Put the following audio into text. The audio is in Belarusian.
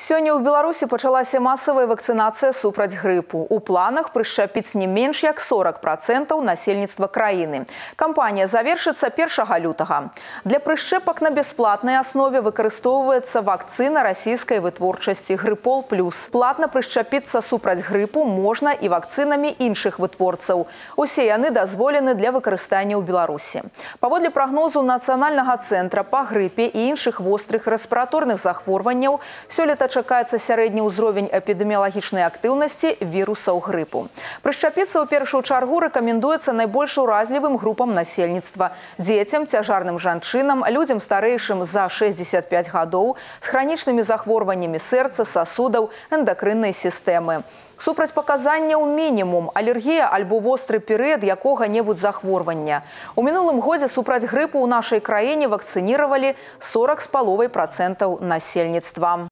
Сёння ў Беларусі пачалася масавая вакцынацыя супраць грыпу. У планах прышчапіць не менш як 40% насельніцтва краіны. Кампанія завершыцца 1 лютага. Для прышчэпак на бясплатнай аснове выкарыстоўваецца вакцына расійскай вытворчасці «Грыпол плюс». Платна прышчапіцца супраць грыпу можна і вакцынамі іншых вытворцаў. Усе яны дазволены для выкарыстання ў Беларусі. Паводле прагнозу Нацыянальнага цэнтра па грыпе і іншых вострых рэспіраторных захворванняў, сёлета чакаецца сярэдні ўзровень эпідэміялагічнай актыўнасці вірусаў грыпу. Прышчапіцца ў першую чаргу рэкамендуецца найбольш уразлівым групам насельніцтва – дзецям, цяжарным жанчынам, людзям старэйшым за 65 гадоў, з хранічнымі захворваннямі сэрца, сасудаў, эндакрыннай сістэмы. Супрацьпаказанняў мінімум – алергія альбо востры перыяд якога-небудзь захворвання. У мінулым годзе супраць грыпу ў нашай краіне вакцыніравалі 40,5% насельніцтва.